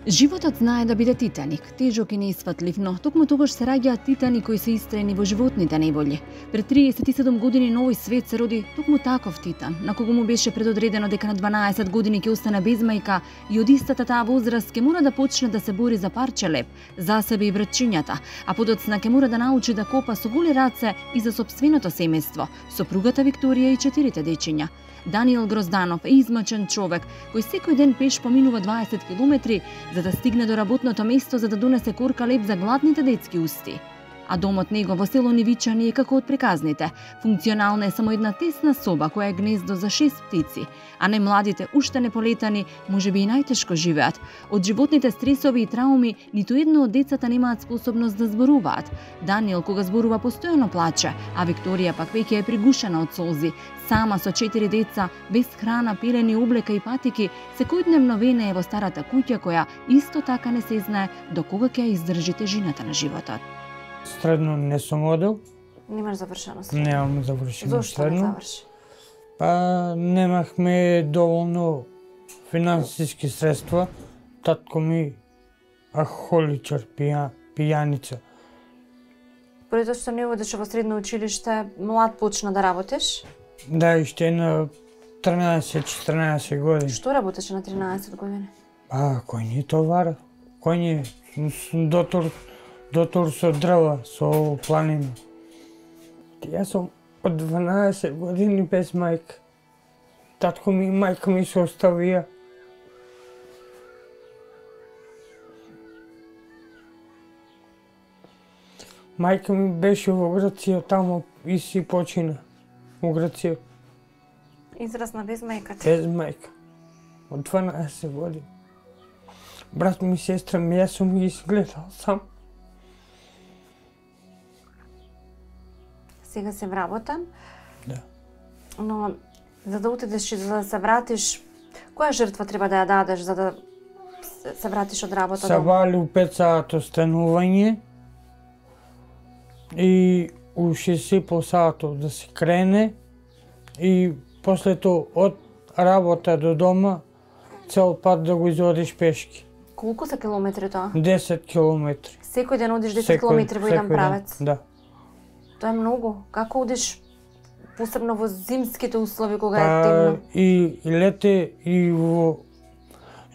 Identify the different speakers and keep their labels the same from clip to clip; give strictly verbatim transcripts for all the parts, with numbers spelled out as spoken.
Speaker 1: Животот знае да биде титаник, тежок и неисфатлив, но токму тогаш се раѓаат титани кои се истраени во животните неволји. Пред триесет и седум години на овој свет се роди токму таков титан, на кого му беше предодредено дека на дванаесет години ќе остане без мајка и од истата таа возраст ќе мора да почне да се бори за парче леб, за себе и братчињата, а подоцна ќе мора да научи да копа со голи раце и за сопственото семејство, сопругата Викторија и четирите дечиња. Даниел Грозданов е измачен човек кој секој ден пеш поминува дваесет километри за да стигне до работното место за да донесе корка леб за гладните детски усти. А домот него во село Нивичани е како од приказните. Функционална е само една тесна соба која е гнездо за шест птици, а не младите уште не полетани можеби и најтешко живеат. Од животните стресови и трауми ниту едно од децата немаат способност да зборуваат. Даниел кога зборува постојано плаче, а Викторија пак веќе е пригушена од солзи. Сама со четири деца, без храна, пилени, облека и патики, секојдневно венее во старата куќа која исто така не се знае до кога ќе ја издржи тежината на животот.
Speaker 2: Средно не сум одел.
Speaker 3: Немаш завршено средно?
Speaker 2: Немам завршено
Speaker 3: Зошто
Speaker 2: средно.
Speaker 3: не заврши?
Speaker 2: Па немахме доволно финансиски средства. Татко ми алкохоличар, пија, пијаница.
Speaker 3: Поради тоа што не одеше во средно училиште, млад почна да работиш?
Speaker 2: Да, уште на тринаесет-четиринаесет години.
Speaker 3: Што работеше на тринаесет години?
Speaker 2: А, кој ни товара? Кој ни дотор, дотор со дрва, со планина. Јас сум од дванаесет години без мајка. Татко ми и мајка ми се оставија. Мајка ми беше во Грција, тамо и си почина. Во Грција.
Speaker 3: Израсна без мајка ти?
Speaker 2: Без мајка. Од дванаесет години. Брат ми, сестра ми, јас сум ги изгледал сам.
Speaker 3: Сега се вработен.
Speaker 2: Да.
Speaker 3: Но за да отидеш и за да се вратиш, која жртва треба да ја дадеш за да се вратиш од работа
Speaker 2: Се
Speaker 3: дома?
Speaker 2: вали у пет сато станување и у шест и пол сато да се крене и после тоа од работа до дома цел пат да го изодиш пешки.
Speaker 3: Колку се километри тоа?
Speaker 2: десет километри.
Speaker 3: Секој ден одиш десет километри во еден правец?
Speaker 2: Да.
Speaker 3: Тоа е многу. Како одиш посебно во зимските услови кога е
Speaker 2: Па,
Speaker 3: темно?
Speaker 2: и, и лете и во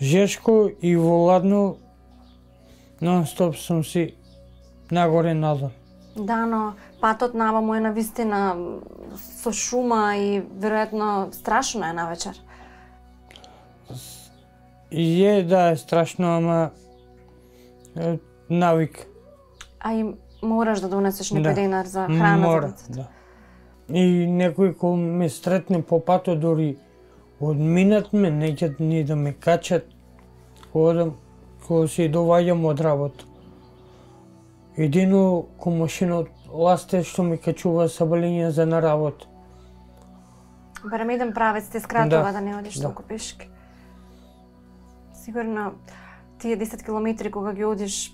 Speaker 2: жешко и во ладно нон-стоп сум си нагоре надолу.
Speaker 3: Да, но патот наваму е навистина со шума и веројатно страшно е навечер.
Speaker 2: И е, да, е страшно, ама е, навик.
Speaker 3: А и мораш да донесеш некој
Speaker 2: Да.
Speaker 3: денар за храна
Speaker 2: Мора,
Speaker 3: за децата.
Speaker 2: да. И некој кој ме стретне по патот, дори од минат ме, неќат ни да ме качат, кога одам, кога се доваѓам од работа. Едино комшинот ласте што ми качува сабалиња за на работа.
Speaker 3: Барем еден правец те скратува
Speaker 2: Да,
Speaker 3: да не одиш
Speaker 2: да.
Speaker 3: толку пешки. Сигурно тие десет километри кога ги одиш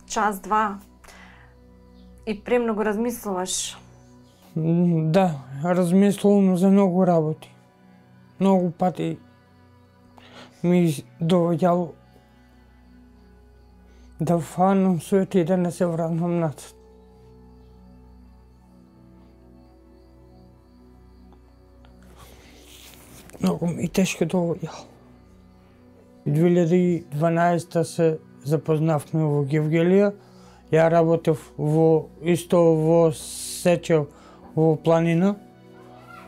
Speaker 3: час-два и премногу размислуваш.
Speaker 2: М, Да, размислувам за многу работи. Многу пати ми доваѓало да фанам свет и да не се вратам назад. Многу ми тешко доваѓало. две илјади и дванаесета се запознавме во Гевгелија. Ја работев во исто во Сечев во планина.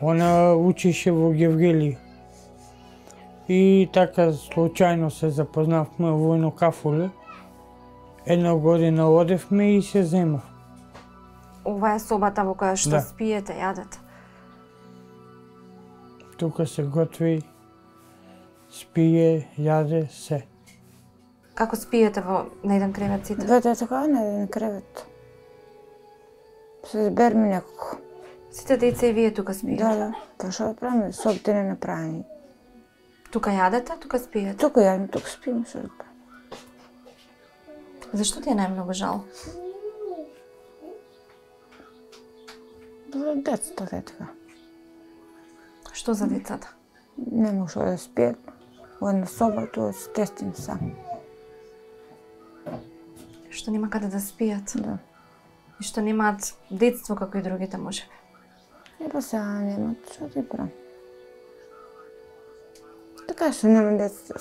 Speaker 2: Она учише во Гевгелија. И така случајно се запознавме во едно кафуле. Една година одевме и се зема.
Speaker 3: Ова е собата во која што
Speaker 2: Да.
Speaker 3: спиете, јадете.
Speaker 2: Тука се готви, спие, јаде, се.
Speaker 3: Како спиете во на еден кревет сите?
Speaker 4: Двете така на еден кревет. Се зберме некако.
Speaker 3: Сите деца и вие тука спиете?
Speaker 4: Да, да. Па што да правиме? Собите не направени.
Speaker 3: Тука јадете, тука спиете?
Speaker 4: Тука јадеме, тука спиме, што да правиме.
Speaker 3: Зашто ти е најмногу жал?
Speaker 4: За децата е така.
Speaker 3: Што за децата?
Speaker 4: Не може да спият. Во една соба, тоа се тестим сам.
Speaker 3: Што нема каде да спијат.
Speaker 4: Да.
Speaker 3: И што немаат детство како и другите можеби.
Speaker 4: И па сега немат, што ти правам? Така што нема детство.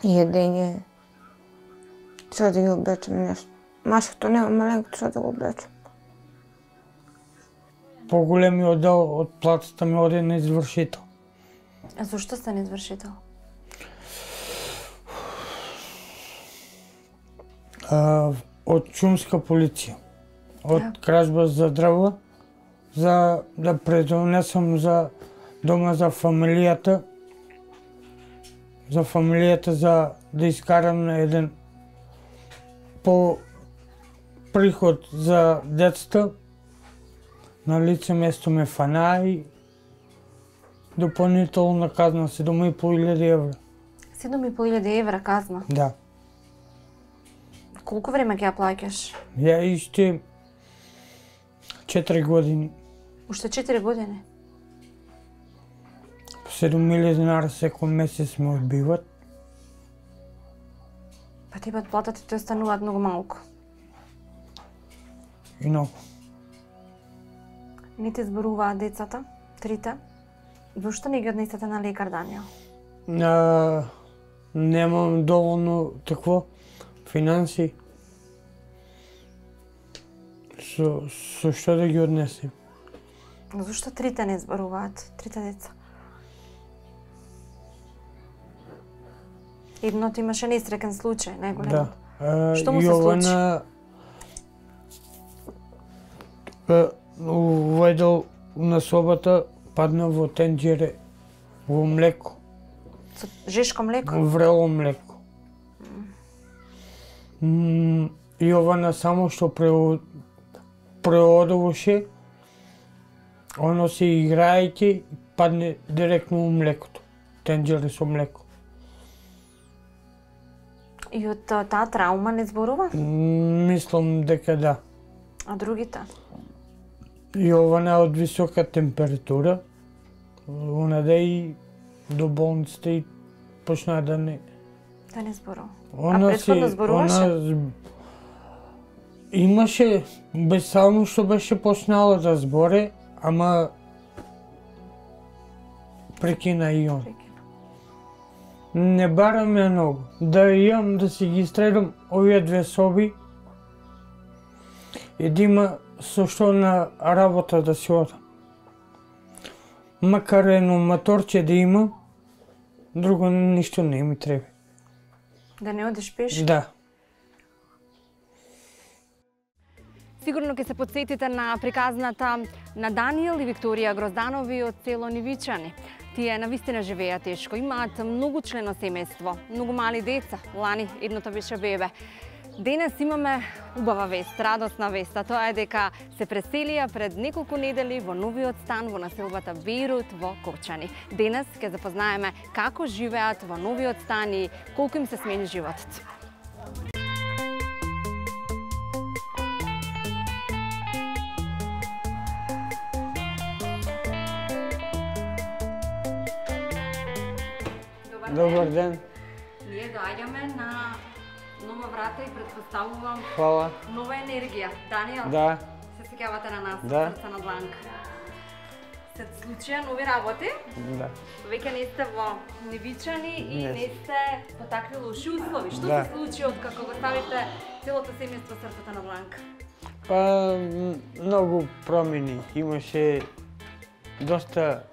Speaker 4: Једење. Што да ги облечем нешто. Машкото нема маленкото што да го облечем.
Speaker 2: Поголемиот дел од платата ми оде на извршител.
Speaker 3: А зошто сте извршител?
Speaker 2: А, од шумска полиција. Од
Speaker 3: Да.
Speaker 2: кражба за дрва, за да предонесам за дома за фамилијата, за фамилијата за да искарам на еден по приход за децата. На лице место ме фана и дополнителна казна седум и по илјади евра.
Speaker 3: седум и по илјади евра казна.
Speaker 2: Да.
Speaker 3: Колку време ќе ја плаќаш?
Speaker 2: Ја иште четири години.
Speaker 3: Уште четири години.
Speaker 2: По седум илјади динари секој месец ме одбиват.
Speaker 3: Па тебе од платата ти остануваат многу малку.
Speaker 2: И многу.
Speaker 3: Не ти зборуваат децата, трите. Зошто не ги однесете на лекар, Даниел?
Speaker 2: А, немам доволно такво финанси. Со, со што да ги однесем?
Speaker 3: Зошто трите не зборуваат, трите деца? Едното имаше несреќен случај,
Speaker 2: Да.
Speaker 3: најголемот.
Speaker 2: А,
Speaker 3: Што му се
Speaker 2: Јована а, уведел на собата, падна во тенџере во млеко,
Speaker 3: Со жешко млеко?
Speaker 2: врело млеко. М, Јована само што прео- преодуваше, оно се играјќи, падне директно во млекото, тенџере со млеко.
Speaker 3: И од а, таа траума не зборува?
Speaker 2: М, Мислам дека да.
Speaker 3: А другите?
Speaker 2: Јована од висока температура, онаде и до болницата и почна да не...
Speaker 3: Да не зборува.
Speaker 2: Она
Speaker 3: А претходно
Speaker 2: си-
Speaker 3: зборуваше?
Speaker 2: она з- Имаше, без само што беше почнала да зборе, ама прекина и он. Не барам ја многу. Да имам да си ги стредам овие две соби и да има со што на работа да си одам. Макар едно моторче да има, друго ништо не ми треба.
Speaker 3: Да не одиш пеш?
Speaker 2: Да.
Speaker 1: Сигурно ќе се подсетите на приказната на Даниел и Викторија Грозданови од село Нивичани. Тие навистина живеат тешко, имаат многу члено семејство, многу мали деца, лани едното беше бебе. Денес имаме убава вест, радосна вест, а тоа е дека се преселија пред неколку недели во новиот стан во населбата Бејрут во Кочани. Денес ќе запознаеме како живеат во новиот стан и колку им се смени животот.
Speaker 2: Добар ден.
Speaker 1: Ние доаѓаме на нова врата и предпоставувам
Speaker 2: Хвала.
Speaker 1: нова енергија. Даниел,
Speaker 2: Да.
Speaker 1: се сеќавате на нас,
Speaker 2: Да.
Speaker 1: срца на дланка. Се случија нови работи,
Speaker 2: Да.
Speaker 1: веќе не сте во Нивичани и
Speaker 2: Не.
Speaker 1: не сте потакли лоши услови. Што
Speaker 2: Да.
Speaker 1: се случи од како го ставите целото семејство срцата на дланка?
Speaker 2: Па, м, многу промени. Имаше доста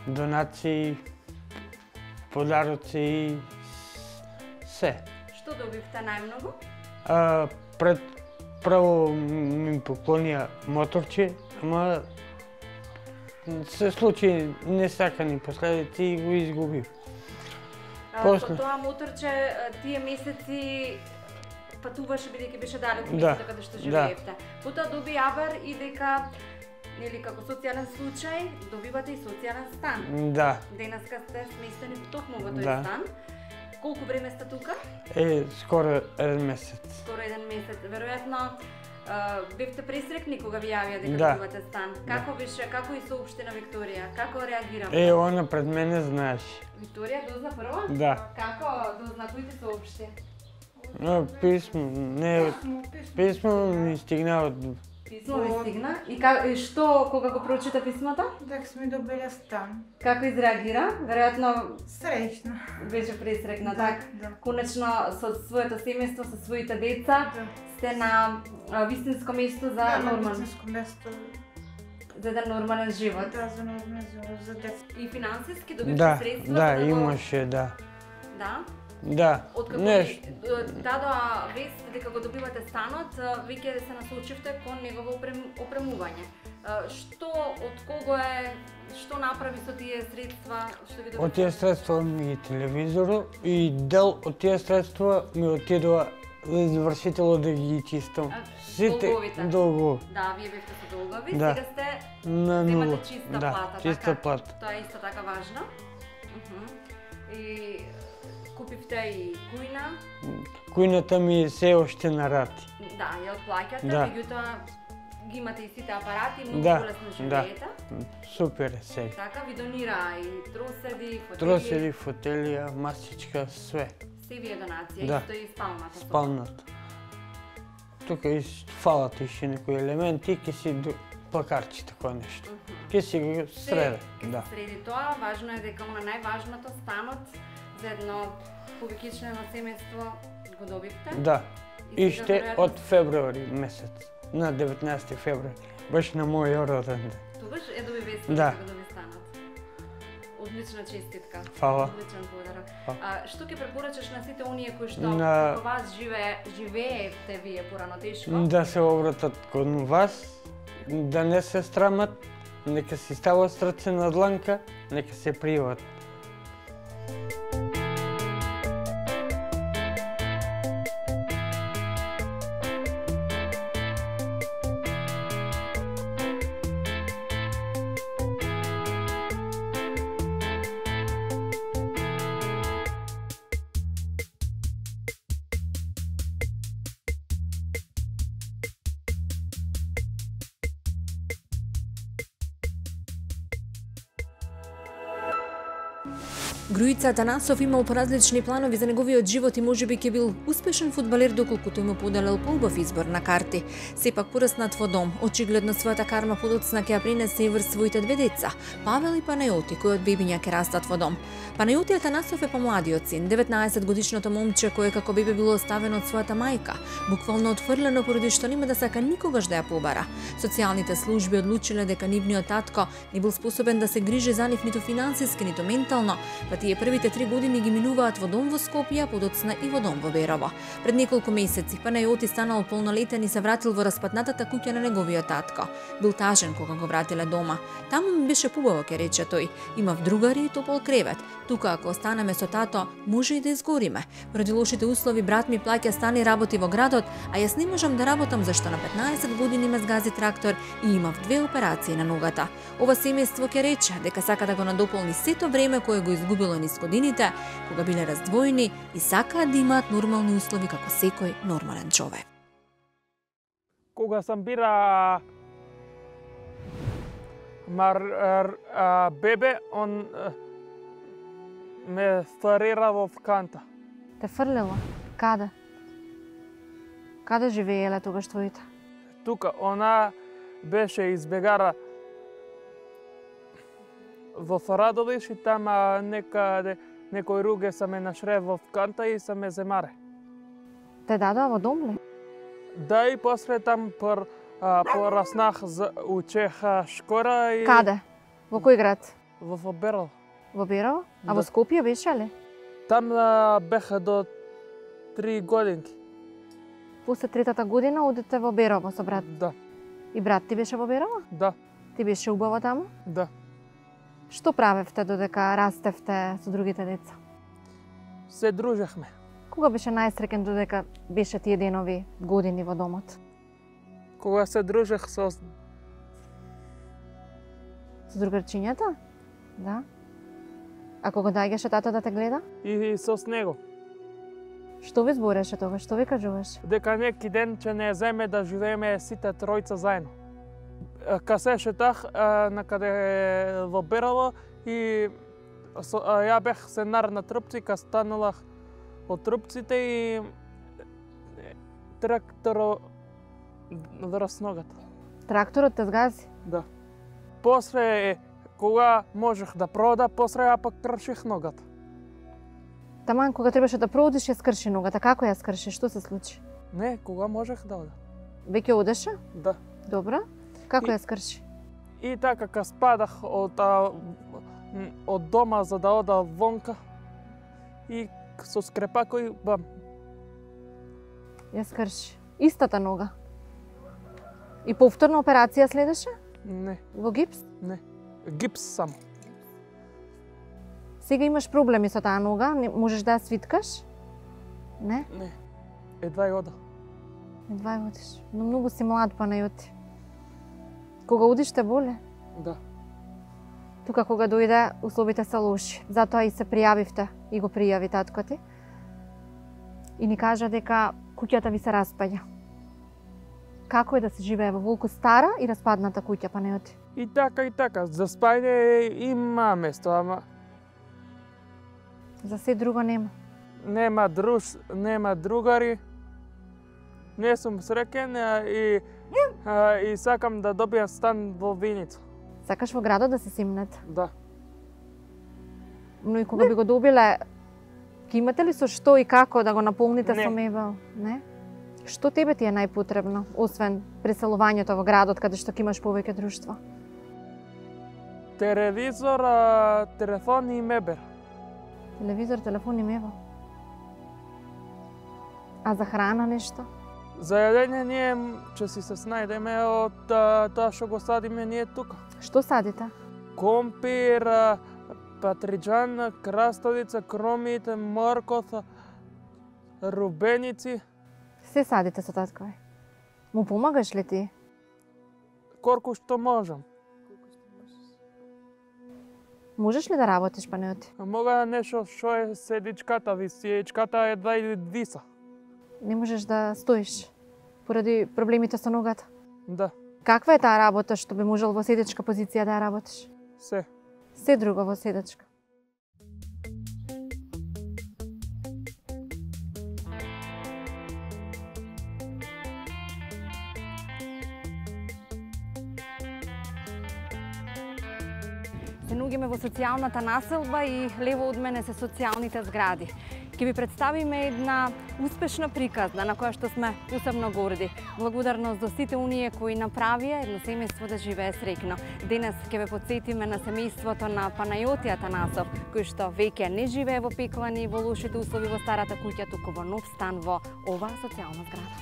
Speaker 2: донации, подароци, се.
Speaker 1: Што добивте најмногу?
Speaker 2: А, пред прво ми поклонија моторче, ама се случи несакани последици и го изгубив.
Speaker 1: А,
Speaker 2: После.
Speaker 1: Со тоа моторче тие месеци патуваше бидејќи беше далеку
Speaker 2: Да,
Speaker 1: местото каде што живеевте. Потоа доби јавар и дека нели како социјален случај добивате и социјален стан.
Speaker 2: Да,
Speaker 1: Денеска сте сместени токму во тој
Speaker 2: Да.
Speaker 1: стан. Колку време сте тука?
Speaker 2: е скоро еден месец.
Speaker 1: Скоро еден месец. Веројатно а, бевте пресрекни кога ви јавија дека
Speaker 2: Да.
Speaker 1: добивате стан. Како беше, како и соопшти на Викторија? Како реагира?
Speaker 2: Е, она пред мене знаеш.
Speaker 1: Викторија дозна прво?
Speaker 2: Да.
Speaker 1: Како дозна, кој ти соопшти?
Speaker 2: А, писмо, не, писмо ми стигна од...
Speaker 3: Писмо ви стигна. И, ка, и што, кога го прочита писмото?
Speaker 4: Дека сме добиле стан.
Speaker 3: Како изреагира? Веројатно
Speaker 4: Среќна.
Speaker 3: беше пресрекна,
Speaker 4: Да,
Speaker 3: така?
Speaker 4: да.
Speaker 3: Конечно, со своето семејство, со своите деца,
Speaker 4: Да.
Speaker 3: сте на а, вистинско место за
Speaker 4: Да, на
Speaker 3: нормален,
Speaker 4: битинско место.
Speaker 3: за еден нормален живот.
Speaker 4: Да, за нормален живот, за деца.
Speaker 3: И финансиски добивте
Speaker 2: Да,
Speaker 3: средства
Speaker 2: да,
Speaker 3: за го...
Speaker 2: имаше, да.
Speaker 3: Да?
Speaker 2: Да,
Speaker 3: Откако
Speaker 2: нешто.
Speaker 3: ви дадоа вест дека го добивате станот, веќе се насочивте кон негово опрем, опремување. А, Што, од кого е, што направи со тие средства, што ги
Speaker 2: Од
Speaker 3: добивте?
Speaker 2: тие средства ми и телевизору и дел од тие средства ми отидоа за извршитело да ги чистам.
Speaker 3: А, долговите?
Speaker 2: долгови.
Speaker 3: Да, вие бевте со долгови,
Speaker 2: Да.
Speaker 3: сега сте
Speaker 2: На нула.
Speaker 3: земате чиста
Speaker 2: Да,
Speaker 3: плата,
Speaker 2: чиста
Speaker 3: така?
Speaker 2: плата.
Speaker 3: Тоа е исто така важно. Мгм. И купивте и кујна,
Speaker 2: Кујната ми е се оште на рати.
Speaker 3: да, ја отплаќате,
Speaker 2: Да.
Speaker 3: меѓутоа ги имате и сите апарати, многу
Speaker 2: Да,
Speaker 3: полесно
Speaker 2: да.
Speaker 3: живеете.
Speaker 2: Супер е сега.
Speaker 3: Така ви донира и троседи, фотели,
Speaker 2: Троседи, фотелија, масичка, све.
Speaker 3: се ви е донација,
Speaker 2: Да.
Speaker 3: исто и спалната соба.
Speaker 2: Спалната. Тука и фалат иште некои елементи, ке си до плакарчи такова нешто. Ке си го среда,
Speaker 3: Се,
Speaker 2: да.
Speaker 3: среди тоа, важно е дека она најважното станот за едно повеќичнено семејство го добивте.
Speaker 2: Да.
Speaker 3: И сега,
Speaker 2: Иште
Speaker 3: веројатно,
Speaker 2: од февруари месец, на деветнаесети февруари, баш на мојот роден ден.
Speaker 3: Тогаш е доби вест
Speaker 2: Да.
Speaker 3: дека го доби станот. Одлична честитка.
Speaker 2: Фала.
Speaker 3: Одличен подарок.
Speaker 2: Фала.
Speaker 3: А, што ќе препорачаш на сите оние кои што
Speaker 2: На-
Speaker 3: како вас живее, живеевте вие порано тешко?
Speaker 2: Да се обратат кон вас, да не се страмат, нека си стават срце на дланка, нека се пријават.
Speaker 1: Груица Атанасов имал поразлични планови за неговиот живот и можеби ќе бил успешен фудбалер доколку тој му поделил поубав избор на карти. Сепак пораснат во дом, очигледно својата карма подоцна ќе ја пренесе и врз своите две деца, Павел и Панајоти, кои од бебиња ќе растат во дом. Панајоти Атанасов е помладиот син, деветнаесет годишното момче кое како бебе било оставено од својата мајка, буквално отфрлено поради што нема да сака никогаш да ја побара. Социјалните служби одлучиле дека нивниот татко не бил способен да се грижи за нив ниту финансиски, ниту ментално, па тие првите три години ги минуваат во дом во Скопје, подоцна и во дом во Берово. Пред неколку месеци Панајоти станал полнолетен и се вратил во распатнатата куќа на неговиот татко. Бил тажен кога го вратиле дома. Таму ми беше пубаво, ќе рече тој. Имав другари и топол кревет. Тука ако останеме со тато, може и да изгориме. Поради лошите услови брат ми плаќа стан и работи во градот, а јас не можам да работам зашто на петнаесет години ме згази трактор и имав две операции на ногата. Ова семејство ќе рече дека сака да го надополни сето време кое го изгубило низ годините, кога биле раздвоени и сакаат да имаат нормални услови како секој нормален човек.
Speaker 5: Кога сам бира мар а, бебе, он а, ме фарира во канта.
Speaker 3: Те фрлело? Каде? Каде живееле тогаш твоите?
Speaker 5: Тука она беше избегара во Фарадовиш и тама некаде некој руге са ме нашре во канта и са ме земаре.
Speaker 3: Те дадоа во дом ли?
Speaker 5: Да, и после там пор, а, пораснах за учеха школа и
Speaker 3: Каде? Во кој град?
Speaker 5: во Фаберл.
Speaker 3: Во Берово? А
Speaker 5: Да.
Speaker 3: во Скопје беше ли?
Speaker 5: Там а, беха до три годинки.
Speaker 3: После третата година одите во Берово со брат.
Speaker 5: Да,
Speaker 3: И брат ти беше во Берово?
Speaker 5: да,
Speaker 3: Ти беше убаво таму?
Speaker 5: да.
Speaker 3: Што правевте додека растевте со другите деца?
Speaker 5: Се дружехме.
Speaker 3: Кога беше најсреќен додека беше тие денови, години во домот?
Speaker 5: Кога се дружех со
Speaker 3: Со другарчињата? Да. А кога доаѓаше тато да те гледа?
Speaker 5: и со с него.
Speaker 3: Што ви збореше тогаш? Што ви кажуваше?
Speaker 5: Дека неки ден ќе не земе да живееме сите тројца заедно. Е, Ка се шетах е, накаде во Берово и со, а, ја бех се нар на трупци, ка станувах од трупците и тракторот врз ногата.
Speaker 6: Тракторот те згази?
Speaker 5: Да. После, кога можех да прода, после ја пак крших ногата.
Speaker 6: Таман кога требаше да продиш, ја скрши ногата. Како ја скрши? Што се случи?
Speaker 5: Не, кога можех да одам.
Speaker 6: Веќе одеше?
Speaker 5: Да.
Speaker 6: Добро. Како
Speaker 5: И-
Speaker 6: ја скрши?
Speaker 5: И така, кога спадах од, а, м, од дома за да ода вонка, и со скрепакој, бам,
Speaker 6: Ја скрши. Истата нога. И повторна операција следеше?
Speaker 5: не,
Speaker 6: Во гипс?
Speaker 5: не, гипс само.
Speaker 6: Сега имаш проблеми со таа нога, не можеш да ја свиткаш? Не?
Speaker 5: Не, едва и ода.
Speaker 6: Едва ја одиш. Но многу си млад, Панајоти. Кога одиш те боле?
Speaker 5: Да.
Speaker 6: Тука кога дојде, условите се лоши. Затоа и се пријавивте и го пријави татко ти. И ни кажа дека куќата ви се распаѓа. Како е да се живее во волку стара и распадната куќа, Панајоти?
Speaker 5: И така, и така, за спајање има место, ама
Speaker 6: За се друго нема.
Speaker 5: нема друж, нема другари. Не сум среќен а, и, а, и сакам да добијам стан во Виница.
Speaker 6: Сакаш во градот да се симнете.
Speaker 5: Да.
Speaker 6: Но и кога би го добиле, ќе имате ли со што и како да го наполните
Speaker 5: Не.
Speaker 6: со мебел? Не? Што тебе ти е најпотребно, освен преселувањето во градот каде што ќе имаш повеќе друштва?
Speaker 5: Телевизор, а, телефон и мебел.
Speaker 6: Телевизор, телефон и мебел. А за храна нешто?
Speaker 5: За јадење ние ќе си се снајдеме од а, тоа што го садиме ние тука.
Speaker 6: Што садите?
Speaker 5: Компир, а, патриџан, краставица, кромит, морков, рубеници,
Speaker 6: Се садите со таткови. Му помагаш ли ти?
Speaker 5: колку што можам.
Speaker 6: Можеш ли да работиш, Панајоти?
Speaker 5: А мога нешто што е седичката, висиечката едва и виса.
Speaker 6: Не можеш да стоиш поради проблемите со ногата.
Speaker 5: Да,
Speaker 6: Каква е таа работа што би можел во седечка позиција да ја работиш?
Speaker 5: се.
Speaker 6: Се друго во седечка.
Speaker 3: Се наоѓаме во социјалната населба и лево од мене се социјалните згради. Ќе ви представиме една успешна приказна на која што сме посебно горди. Благодарност до сите оние кои направија едно семејство да живее среќно. Денес ќе ве потсетиме на семејството на Панајоти Атанасов, кој што веќе не живее во пеклани и во лошите услови во старата куќа, туку во нов стан во оваа социјална зграда.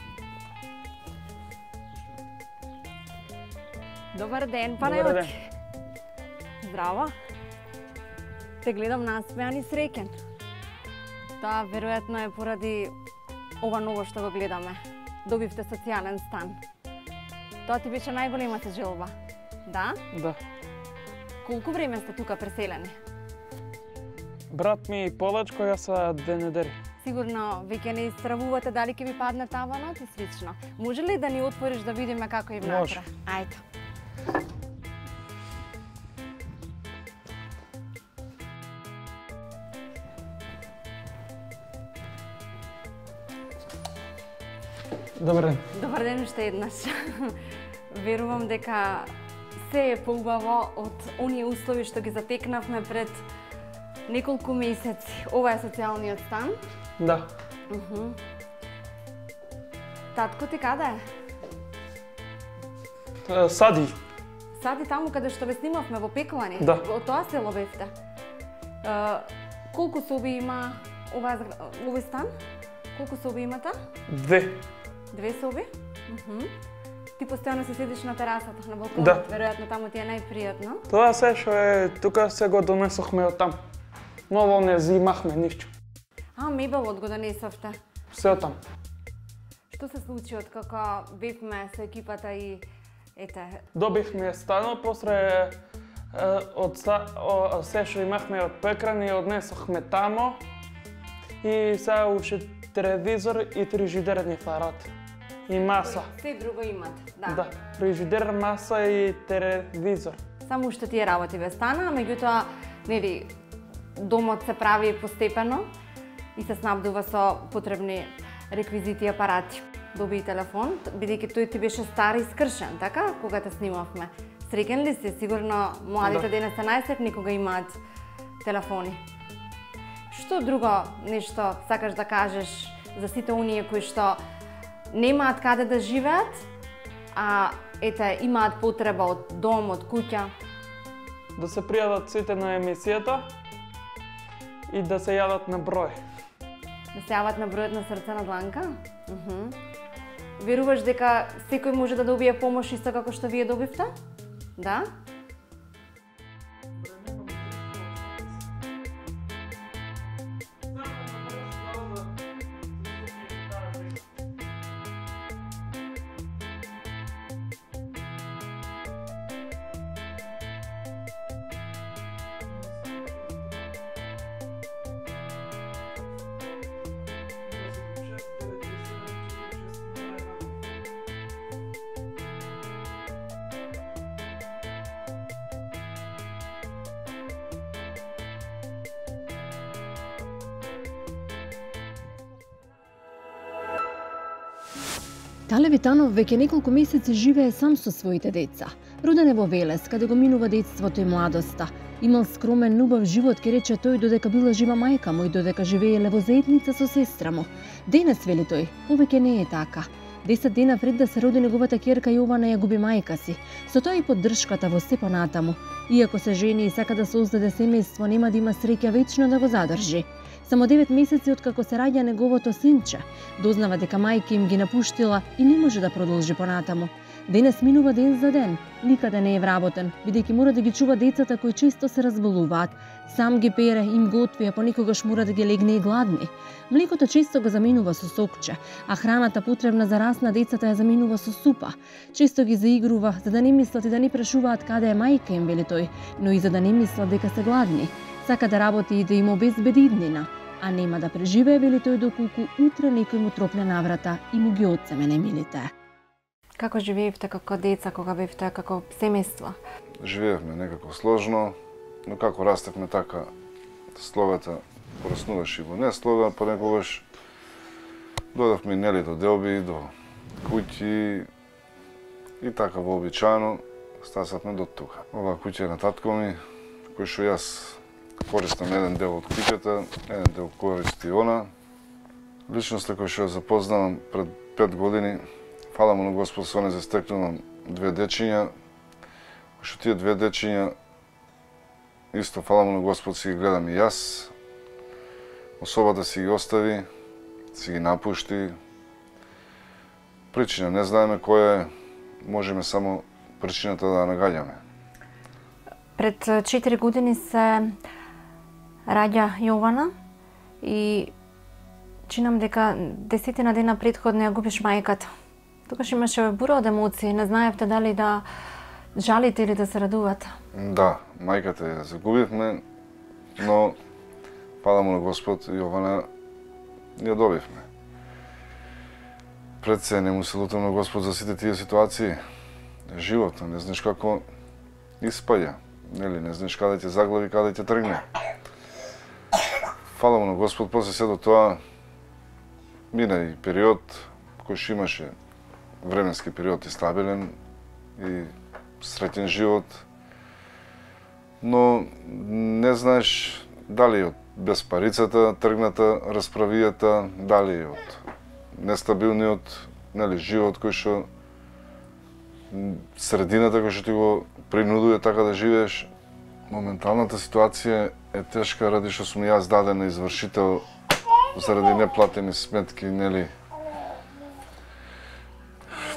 Speaker 3: Добар ден, Панајоти. Здраво. Те гледам насмеан и среќен. Тоа веројатно е поради ова ново што го гледаме. Добивте социјален стан. Тоа ти беше најголемата желба. Да?
Speaker 5: Да.
Speaker 3: Колку време сте тука преселени?
Speaker 5: Брат ми полачко, јас са две недели.
Speaker 3: Сигурно веќе не истравувате дали ќе ви падне таванот и слично. Може ли да ни отвориш да видиме како е внатре?
Speaker 5: Може.
Speaker 3: Ајде.
Speaker 5: Добар ден.
Speaker 3: Добар ден уште еднаш. Верувам дека се е поубаво од оние услови што ги затекнавме пред неколку месеци. Ова е социјалниот стан.
Speaker 5: Да.
Speaker 3: Уху. Татко ти каде е?
Speaker 5: Е, Сади.
Speaker 3: Сади таму каде што ве снимавме во Пеклани.
Speaker 5: Да.
Speaker 3: Во тоа село бевте. Е, колку соби има оваа згра- овој стан? Колку соби имате?
Speaker 5: Две.
Speaker 3: Две соби? Уху. Ти постојано се седиш на терасата, на балконот.
Speaker 5: Да.
Speaker 3: Веројатно таму ти е најпријатно.
Speaker 5: Тоа се што е, тука се го донесохме од там. Ново не зимахме ништо.
Speaker 3: А, мебелот го донесовте.
Speaker 5: Се од там.
Speaker 3: Што се случи од како бевме со екипата и ете,
Speaker 5: Добивме станот, после е, од са- о- се што имахме од Пекрани однесохме тамо и сега уште телевизор и фрижидерни фарат. И маса.
Speaker 3: се друго имате, да.
Speaker 5: Да, фрижидер, маса и телевизор.
Speaker 3: Само уште тие работи ве стана, меѓутоа, нели, домот се прави постепено и се снабдува со потребни реквизити и апарати. доби телефон, бидејќи тој ти беше стар и скршен, така, кога те снимавме. Среќен ли си? Сигурно младите денес се најсретни кога имаат телефони. Што друго нешто сакаш да кажеш за сите оние кои што немаат каде да живеат, а ете имаат потреба од дом, од куќа?
Speaker 5: Да се пријават сите на емисијата и да се јават на број.
Speaker 3: Да се јават на бројот на Срце на дланка? Uh-huh. Веруваш дека секој може да добие помош исто како што вие добивте? Да?
Speaker 1: Тале Витанов веќе неколку месеци живее сам со своите деца. Роден е во Велес, каде го минува детството и младоста. Имал скромен, убав живот, ке рече тој, додека била жива мајка му и додека живееле во заедница со сестра му. Денес, вели тој, повеќе не е така. Десет дена пред да се роди неговата ќерка Јована ја губи мајка си. Со тоа и поддршката во се понатаму. Иако се жени и сака да создаде семејство, нема да има среќа вечно да го задржи. Само девет месеци откако се раѓа неговото синче, дознава дека мајка им ги напуштила и не може да продолжи понатаму. Денес минува ден за ден, никаде не е вработен, бидејќи мора да ги чува децата кои често се разболуваат. Сам ги пере, им готви, а понекогаш мора да ги легне и гладни. Млекото често го заменува со сокче, а храната потребна за раст на децата ја заменува со супа. Често ги заигрува, за да не мислат и да не прашуваат каде е мајка им, вели тој, но и за да не мислат дека се гладни. Сака да работи и да им обезбеди иднина, а нема да преживее, вели тој, доколку утре некој му тропне на врата и му ги одземе немилите.
Speaker 3: Како живеевте како деца, кога бевте како семејство?
Speaker 7: Живеевме некако сложно, но како растевме така, словата пораснуваше и во не слога, понекогаш додавме нели до делби, до куќи и така вообичаено стасавме до тука. Ова куќа е на татко ми, кој што јас користам еден дел од куќата, еден дел користи она. Личноста која што ја запознавам пред пет години, фала му на Господ, со не застекнувам две дечиња, што тие две дечиња исто фала му на Господ си ги гледам и јас. Особата си ги остави, си ги напушти. Причина не знаеме која е, можеме само причината да нагаѓаме.
Speaker 3: Пред четири години се раѓа Јована и чинам дека десетина дена претходно ја губиш мајката. Тогаш имаше бура од емоции, не знаевте дали да жалите или да се радувате. Да,
Speaker 7: мајката ја загубивме, но фала му на Господ, Јована ја добивме. Пред се не му се лутам на Господ за сите тие ситуации. Животот, не знаеш како испаѓа, нели, не знаеш каде ќе заглави, каде ќе тргне. Фала му на Господ, после се до тоа мина и период кој што имаше временски период и стабилен и среќен живот, но не знаеш дали од безпарицата тргната расправијата, дали од нестабилниот, нели, живот кој што средината кој што ти го принудува така да живееш. Моменталната ситуација е тешка ради што сум јас даден на извршител заради неплатени сметки, нели,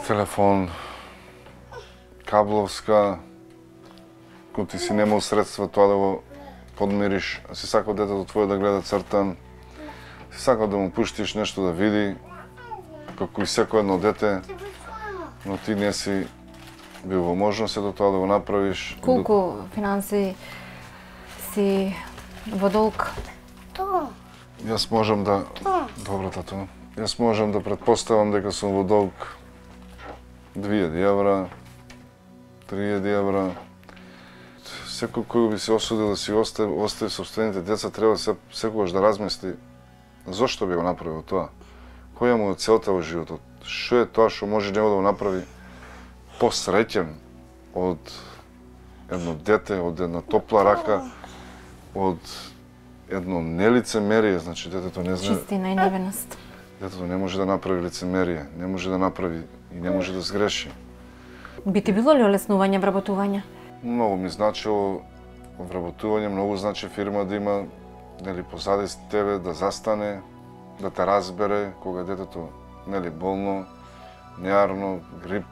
Speaker 7: телефон, кабловска, кога ти си немал средства тоа да го подмириш, си сакал детето твое да гледа цртан, си сакал да му пуштиш нешто да види, како и секој едно дете, но ти не си бил во можност до тоа да го направиш.
Speaker 3: Колку финанси си во долг?
Speaker 7: Јас можам да... Добро, тато. Јас можам да претпоставам дека сум во долг две илјади евра, три илјади евра. Секој кој би се осудил да си остави, остави собствените деца, треба се, секогаш да размисли зошто би го направил тоа. која му е целта во животот? Што е тоа што може него да го направи посреќен од едно дете, од една топла рака, од едно нелицемерие, значи детето не знае...
Speaker 6: Чистина и невиност.
Speaker 7: Детето не може да направи лицемерие, не може да направи и не може да сгреши.
Speaker 6: Би ти било ли олеснување вработување?
Speaker 7: Многу ми значило вработување, многу значи фирма да има, нели, позади тебе, да застане, да те разбере кога детето, нели, болно, неарно, грип,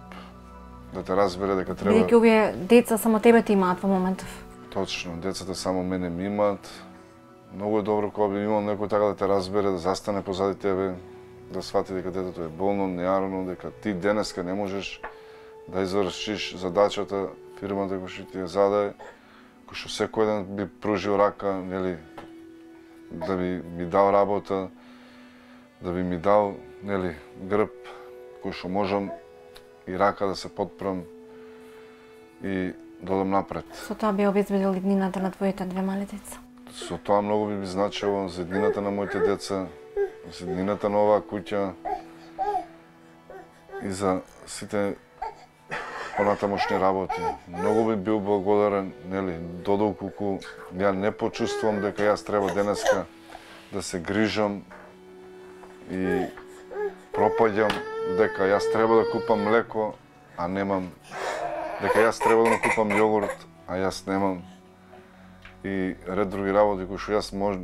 Speaker 7: да те разбере дека треба...
Speaker 6: Бидејќи овие деца само тебе ти имаат во моментов.
Speaker 7: Точно, децата само мене ми имаат. Многу е добро кога би имал некој така да те разбере, да застане позади тебе, да свати дека детето е болно, неарно, дека ти денеска не можеш да извршиш задачата, фирмата која што ти ја зададе, кој што секој ден би пружил рака, нели, да би ми дал работа, да би ми дал, нели, грб, кој што можам и рака да се подпрам и да одам напред.
Speaker 6: Со тоа би обезбедил иднината на твоите две мали деца.
Speaker 7: Со тоа многу би ми значило за иднината на моите деца, за иднината на оваа куќа и за сите понатамошни работи. Многу би бил благодарен, нели, додолку ја не почувствувам дека јас треба денеска да се грижам и пропаѓам, дека јас треба да купам млеко, а немам, дека јас треба да му купам јогурт, а јас немам, и ред други работи кои што јас мож...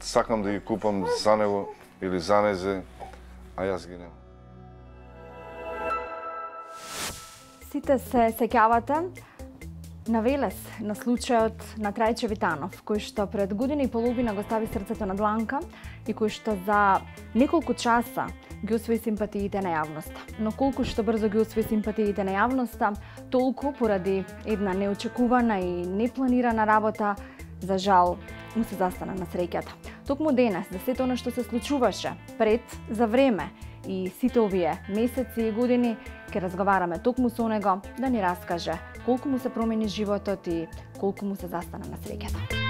Speaker 7: сакам да ги купам за него или за незе, а јас ги немам.
Speaker 3: Сите се сеќавате на Велес, на случајот на Трајче Витанов, кој што пред година и половина го стави срцето на дланка и кој што за неколку часа ги освои симпатиите на јавноста. Но колку што брзо ги освои симпатиите на јавноста, толку поради една неочекувана и непланирана работа, за жал, му се застана на среќата. Токму денес, за сето оно што се случуваше пред, за време и сите овие месеци и години, ќе разговараме токму со него да ни раскаже колку му се промени животот и колку му се застана на среќата.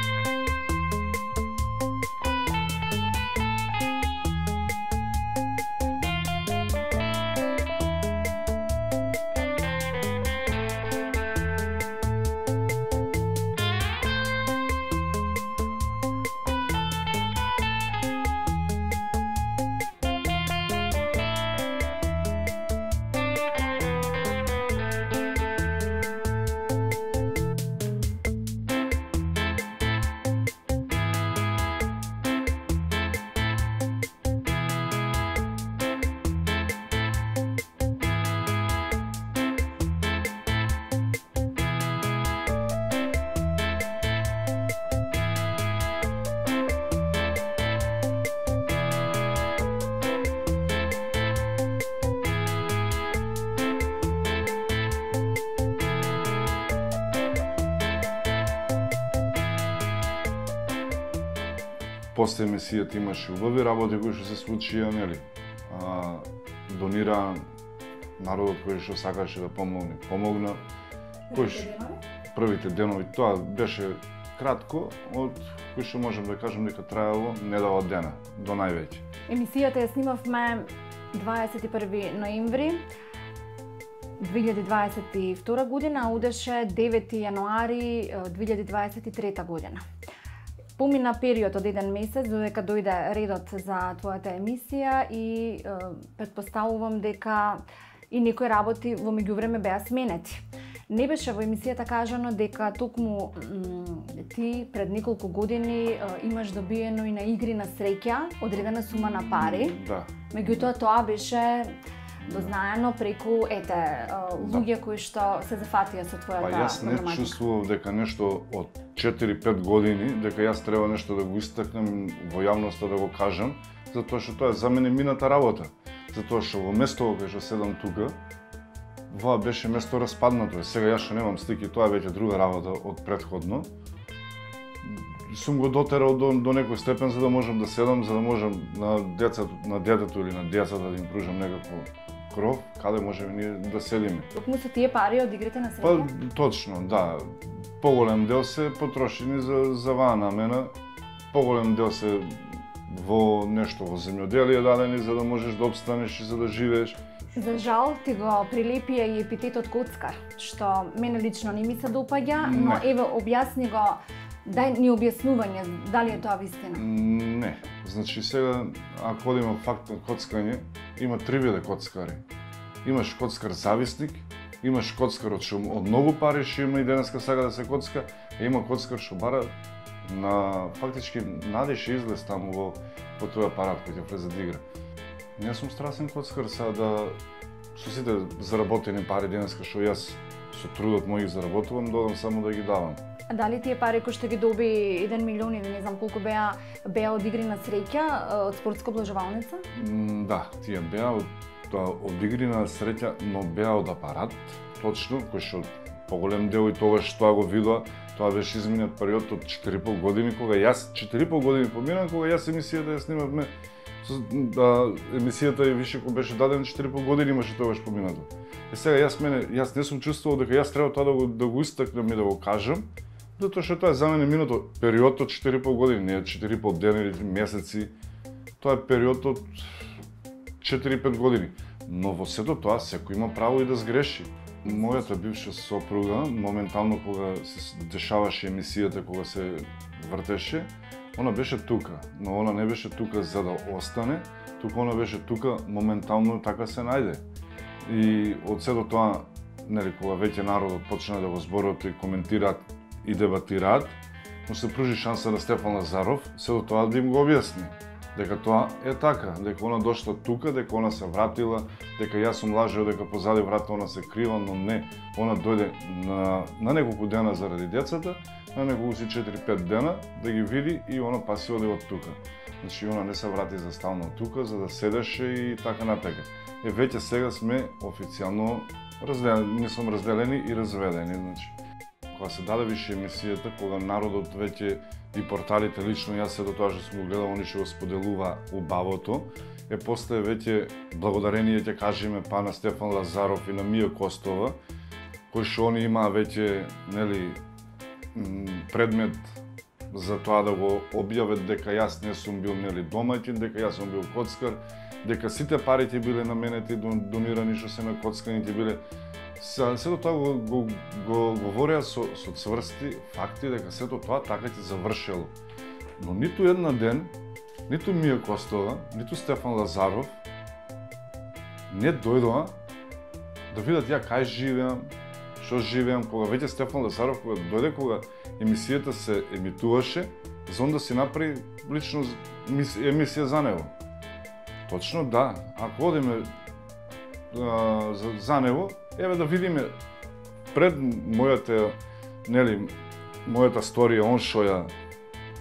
Speaker 7: После емисијата имаше убави работи кои што се случија, нели? А, донира народот кој што сакаше да помогне, помогна. Кој првите денови, тоа беше кратко, од кој што можам да кажам дека траело не да од дена, до највеќе.
Speaker 3: Емисијата ја снимавме дваесет и први ноември две илјади дваесет и втора година, а удеше девети јануари две илјади дваесет и трета година. Помина период од еден месец додека дојде редот за твојата емисија и е, претпоставувам дека и некои работи во меѓувреме беа сменети. Не беше во емисијата кажано дека токму ти пред неколку години е, имаш добиено и на игри на среќа одредена сума на пари.
Speaker 7: Да.
Speaker 3: Меѓутоа тоа беше дознаено преку ете луѓе кои што се зафатија со твојата
Speaker 7: Па јас не чувствував дека нешто од четири-пет години, дека јас треба нешто да го истакнем во јавноста да го кажам, затоа што тоа е за мене мината работа. Затоа што во местото кај што седам тука, воа беше место распаднато. Сега јас што немам стики, тоа е веќе друга работа од претходно. Сум го дотерал до, до некој степен за да можам да седам, за да можам на децата, на детето или на децата да им пружам некакво кров, каде можеме ние да седиме.
Speaker 3: Токму се тие пари од игрите на
Speaker 7: Па
Speaker 3: среќа?
Speaker 7: точно, да. Поголем дел се потрошени за за ваа намена, поголем дел се во нешто во земјоделие дадени за да можеш да обстанеш и за да живееш.
Speaker 3: За жал ти го прилепија и епитетот коцкар, што мене лично не ми се допаѓа, но
Speaker 7: Не.
Speaker 3: еве објасни го, дај ни објаснување дали е тоа вистина.
Speaker 7: Не. Значи сега, ако одиме факт на коцкање, има три вида коцкари. Имаш коцкар зависник, имаш коцкар од што од многу пари што има и денеска сага да се коцка, а има коцкар што бара на фактички надиш излез таму во по тој апарат кој ќе влезе да игра. Не сум страсен коцкар сега да со сите заработени пари денеска што јас со трудот мој ги заработувам, додам само да ги давам.
Speaker 3: А дали тие пари кои што ги доби еден милион или не знам колку беа беа од игри на среќа, од спортска облажувалница?
Speaker 7: М, Да, тие беа од, од игри на среќа, но беа од апарат, точно, кој што поголем дел и тогаш тоа го видоа, тоа беше изминат период од четири и пол години, кога јас четири и пол години поминав, кога јас емисијата ја снимавме, да, емисијата и више кој беше даден четири и пол години имаше тогаш поминато. Е сега јас мене, јас не сум чувствувал дека јас треба тоа да го да го истакнам и да го кажам, затоа што тоа е за мене минато период од четири и пол години, не четири и пол дена или месеци. Тоа е период од четири и пет години. Но во сето тоа секој има право и да сгреши. Мојата бивша сопруга, моментално кога се дешаваше емисијата, кога се вртеше, она беше тука, но она не беше тука за да остане, тука она беше тука моментално така се најде. И од сето тоа, нели, кога веќе народот почна да го зборуваат и коментираат и дебатираат, но се пружи шанса на Стефан Лазаров, сето тоа да им го објасни. Дека тоа е така, дека она дошла тука, дека она се вратила, дека јас сум лажео дека позади врата она се крила, но не. Она дојде на, на неколку дена заради децата, на неколку си четири и пет дена да ги види и она па си оди од тука. Значи она не се врати за стално тука, за да седеше и така натака. Е, веќе сега сме официјално разделени, не сум разделени и разведени, значи. Кога се даде више емисијата, кога народот веќе и порталите, лично јас се до тоа што сум го гледал, они што го споделува убавото, е после веќе благодарение ќе кажеме па на Стефан Лазаров и на Мија Костова, кои што они имаа веќе, нели, предмет за тоа да го објават дека јас не сум бил, нели, домаќин, дека јас сум бил коцкар, дека сите пари ќе биле наменети донирани што се на коцкани ќе биле. Сето тоа го, го, го говореа со, со цврсти факти дека сето тоа така ќе завршело. Но ниту една ден, ниту Мија Костова, ниту Стефан Лазаров не дојдоа да видат ја кај живеам, што живеам, кога веќе Стефан Лазаров кога дојде, кога емисијата се емитуваше, за он да си направи лично емисија за него. Точно да, ако одиме а, за, за него, еве да видиме пред мојата, нели, мојата сторија, он што ја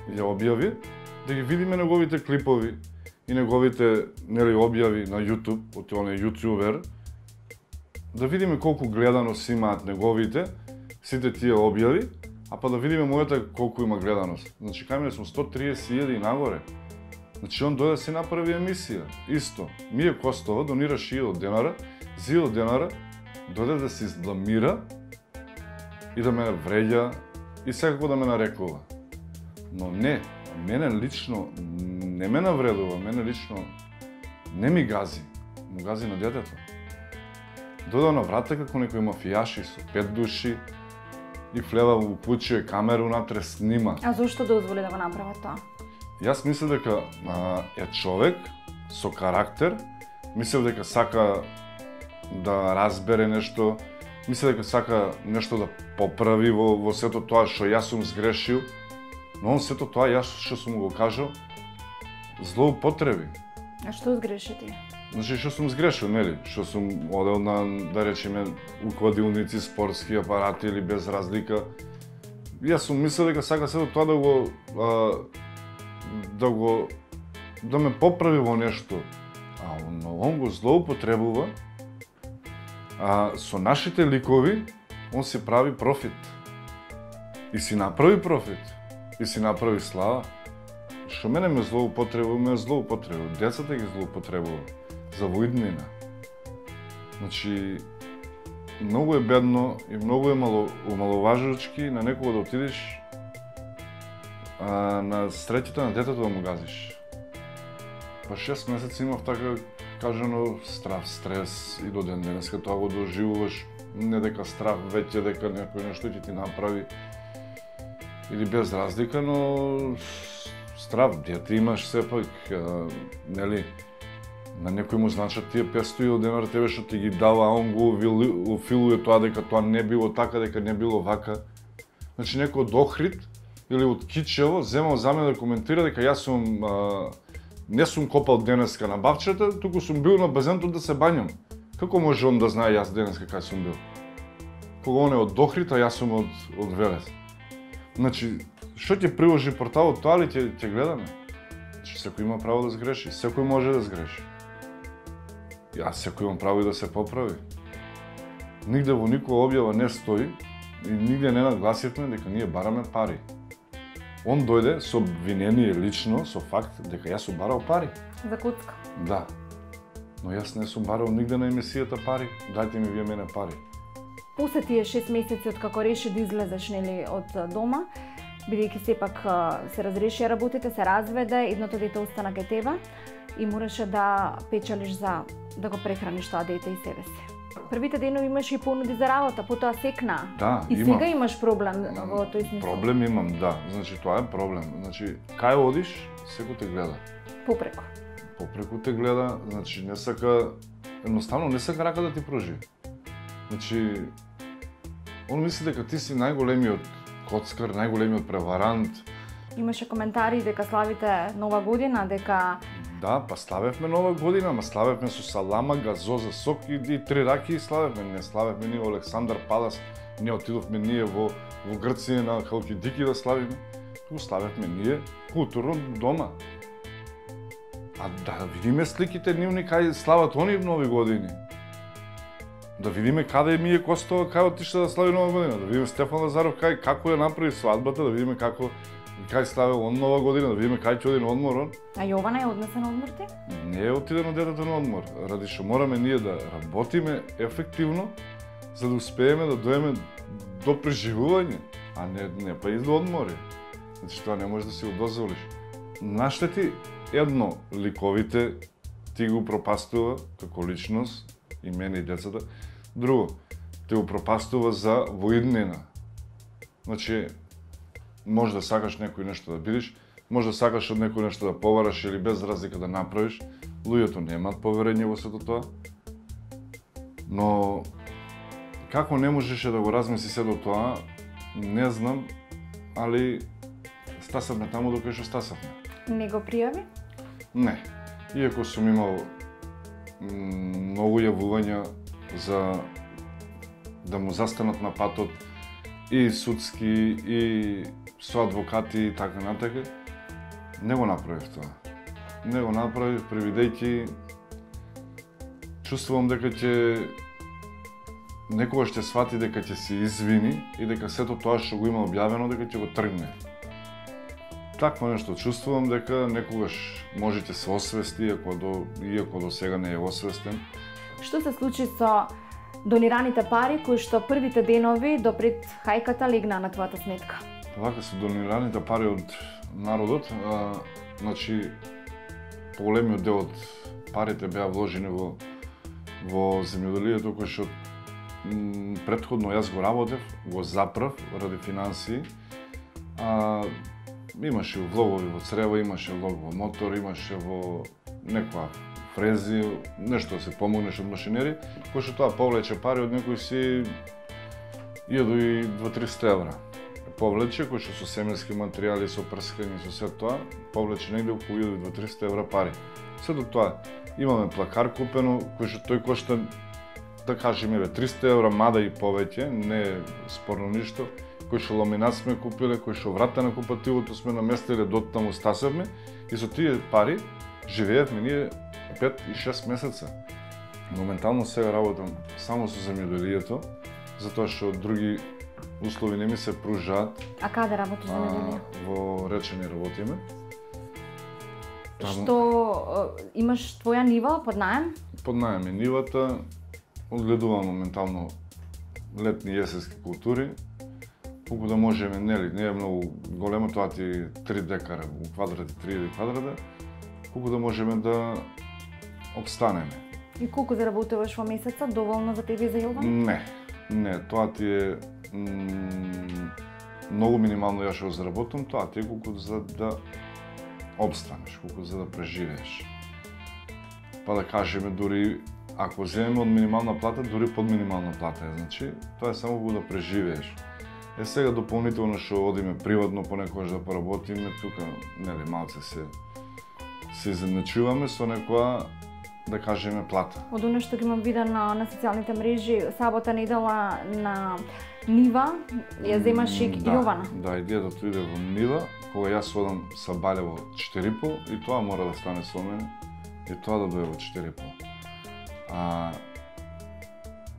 Speaker 7: ја објави, да ги видиме неговите клипови и неговите, нели, објави на YouTube, од тој јутјубер, да видиме колку гледаност имаат неговите, сите тие објави, а па да видиме мојата колку има гледаност. Значи, кај мене сум сто триесет илјади нагоре. Значи, он дојде да си направи емисија. Исто. Мија Костова донираше илјада денара, за илјада денара дојде да се избламира и да ме вреѓа и секако да ме нарекува. Но не, мене лично не ме навредува, мене лично не ми гази, му гази на детето. Дојде на врата како некој мафијаши со пет души и влева, уклучува камеру натре, снима.
Speaker 3: А зошто дозволи да го направат тоа?
Speaker 7: Јас мислев дека а, е човек со карактер, мислев дека сака да разбере нешто, мислев дека сака нешто да поправи во, во сето тоа што јас сум сгрешил, но он сето тоа јас што сум го кажал, злоупотреби.
Speaker 3: А што сгреши ти?
Speaker 7: Значи, што сум сгрешил, нели? Што сум одел на, да речеме, укладилници, спортски апарати или без разлика. Јас сум мислел дека сака сето тоа да го а, да го да ме поправи во нешто. А он, он го злоупотребува. А со нашите ликови он си прави профит. И си направи профит. И си направи слава. Што мене ме злоупотребува, ме злоупотребува. Децата ги злоупотребува. За воиднина. Значи, многу е бедно и многу е мало, умаловажувачки на некого да отидеш а, на среќата на детето да му газиш. Па шест месеци имав така кажано страв, стрес и до ден денеска тоа го доживуваш, не дека страв веќе дека некој нешто ќе ти направи или без разлика, но страв, дете имаш сепак, нели, на некој му значат тие петстотини денар тебе што ти ги дава, а он го уфилуе тоа дека тоа не било така, дека не било вака. Значи некој од Охрид или од Кичево земал за мене да коментира дека јас сум а, не сум копал денеска на бавчета, туку сум бил на базенто да се бањам. Како може он да знае јас денеска кај сум бил? Кога он е од Охрид, а јас сум од, од Велес. Значи, што ќе приложи порталот, тоа ли ќе, ќе гледаме? Значи, секој има право да сгреши, секој може да сгреши. Јас секој имам право и да се поправи. Нигде во никоја објава не стои и нигде не нагласивме дека ние бараме пари. Он дојде со обвинение лично, со факт дека јас сум барал пари.
Speaker 6: За куцка.
Speaker 7: Да. Но јас не сум барал нигде на емисијата пари. Дајте ми вие мене пари.
Speaker 6: После тие шест месеци од како реши да излезеш нели од дома, бидејќи сепак се разреши работите, се разведе, едното дете остана кај тебе и мораше да печалиш за да го прехраниш тоа дете и себе си. Првите денови имаш и понуди за работа, потоа секна.
Speaker 7: Да,
Speaker 6: и
Speaker 7: имам.
Speaker 6: Сега имаш проблем во тој смисла.
Speaker 7: Проблем имам, да. Значи тоа е проблем. Значи кај одиш, секој те гледа.
Speaker 6: Попреку.
Speaker 7: Попреку те гледа, значи не сака, едноставно не сака рака да ти пружи. Значи он мисли дека ти си најголемиот коцкар, најголемиот преварант.
Speaker 6: Имаше коментари дека славите Нова година, дека
Speaker 7: Да, па славевме Нова година, ама славевме со салама, газоза, сок и, и три раки и славевме. Не славевме ние во Александар Палас, не отидовме ние во, во Грција на Халкидики да славиме. Туку славевме ние културно дома. А да видиме сликите нивни кај слават они Нови години. Да видиме каде ми е Костова, кај отишла да слави Нова година, да видиме Стефан Лазаров кај како ја направи свадбата, да видиме како кај славел он Нова година, да видиме кај ќе оди на одмор он.
Speaker 6: А Јована е однесен на одмор ти?
Speaker 7: Не е отидено детето на одмор, ради што мораме ние да работиме ефективно, за да успееме да доеме до преживување, а не, не па и до одмори. Значи тоа не можеш да си го дозволиш. Наштети едно ликовите ти го пропастува како личност, и мене и децата. Друго, те го пропастува за воиднина. Значи, може да сакаш некој нешто да бидиш, може да сакаш од некој нешто да повараш или без разлика да направиш. Луѓето немаат поверење во сето тоа. Но како не можеше да го размисли сето тоа, не знам, али стасавме таму докај што стасавме.
Speaker 6: Не го пријави?
Speaker 7: Не. Иако сум имал многу јавувања за да му застанат на патот и судски, и со адвокати и така натака, не го направив тоа. Не го направив, превидејќи чувствувам дека ќе некогаш ќе свати дека ќе се извини и дека сето тоа што го има објавено дека ќе го тргне. Такво нешто чувствувам дека некогаш може ќе се освести, иако до, иако до сега не е освестен.
Speaker 6: Што се случи со донираните пари кои што првите денови до пред хајката легнаа на твојата сметка?
Speaker 7: Вака со донираните пари од народот, а, значи поголемиот дел од парите беа вложени во во земјоделието кој што претходно јас го работев, го заправ ради финансии. А, имаше влогови во црева, имаше влог во мотор, имаше во некоја фрези, нешто да се помогнеш од машинери, кој што тоа повлече пари од некој си илјаду и две-триста евра. Повлече, кој што со семејски материјали, со прскање, со се тоа, повлече негде околу илјаду и две-триста евра пари. Сето тоа, имаме плакар купено, кој што тој кошта, да кажеме, триста евра, мада и повеќе, не е спорно ништо, кој што ламинат сме купиле, кој што врата на купативото сме наместиле, дотаму стасевме и со тие пари живеевме ние пет и шест месеца. Моментално сега работам само со земјоделието, затоа што други услови не ми се пружаат.
Speaker 6: А каде работиш земјоделие?
Speaker 7: Во Речени работиме.
Speaker 6: Што имаш твоја нива под наем?
Speaker 7: Под наем е нивата, одгледувам моментално летни и есенски култури, колку да можеме, нели, не е многу големо, тоа ти три декара, у квадрати, три квадрата, колку да можеме да обстанеме.
Speaker 3: И колку заработуваш во месеца, доволно за тебе и за Илван?
Speaker 7: Не, не, тоа ти е многу минимално ја што заработувам, тоа ти е колку за да обстанеш, колку за да преживееш. Па да кажеме, дури ако земеме од минимална плата, дури под минимална плата е, значи, тоа е само колку да преживееш. Е сега дополнително што одиме приватно понекогаш да поработиме, тука, нели, малце се се изедначуваме со некоја, да кажеме, плата.
Speaker 3: Од оно што ги имам вида на, на социјалните мрежи, сабота недела на нива, ја земаш и
Speaker 7: да,
Speaker 3: Јована.
Speaker 7: Да, идејата иде во нива, кога јас одам са Балево четири и пол, и тоа мора да стане со мене, и тоа да дое во четири и пол. А,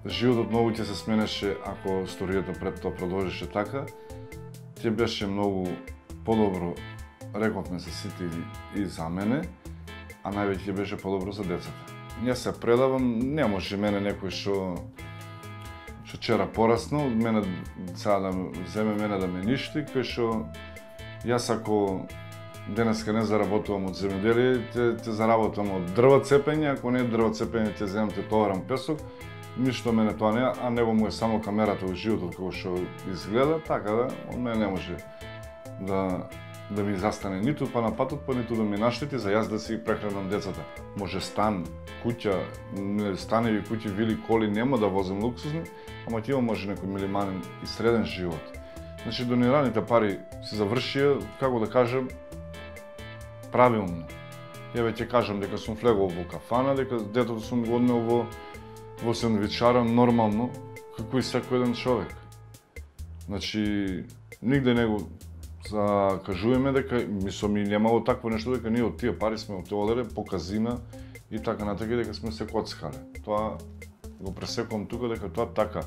Speaker 7: животот многу ќе се сменеше ако историјата пред тоа продолжеше така. Ќе беше многу подобро, рековме се сите и за мене, а највеќе беше подобро за децата. Ја се предавам, не може мене некој што што вчера пораснал, мене сега да земе мене да ме ништи, кој што јас ако денеска не заработувам од земјоделие, ќе ќе заработувам од дрва цепење, ако не дрва цепење ќе земам ќе товарам песок. Ништо мене тоа не, а него му е само камерата во животот како што изгледа, така да од мене не може да да ми застане ниту па на патот, па ниту да ми наштети за јас да си прехранам децата. Може стан, куќа, станеви, куќи, вили, коли нема да возам луксузни, ама ќе има може некој минимален и среден живот. Значи донираните пари се завршија, како да кажем, правилно. Ја веќе кажам дека сум влегол во кафана, дека детето сум го однел во во сендвичара нормално, како и секој еден човек. Значи, нигде не го закажуваме дека мислам и немало такво нешто дека ние од тие пари сме отолеле по казина и така натака дека сме се коцкале. Тоа го пресекувам тука дека тоа така.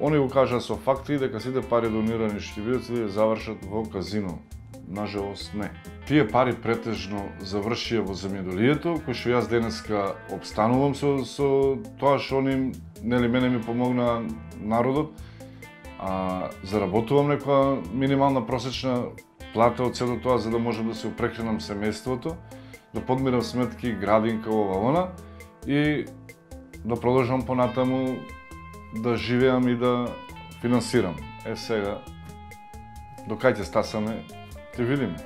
Speaker 7: Они го кажа со факти дека сите пари донирани што ќе бидат се да завршат во казино. Нажалост не. Тие пари претежно завршија во земјоделието, кој што јас денеска обстанувам со со тоа што они нели мене ми помогна народот. А заработувам некоја минимална просечна плата од сето тоа за да можам да се опрехранам семејството, да подмирам сметки, градинка, ова, она и да продолжам понатаму да живеам и да финансирам. Е сега, до кај ќе стасаме, ќе видиме.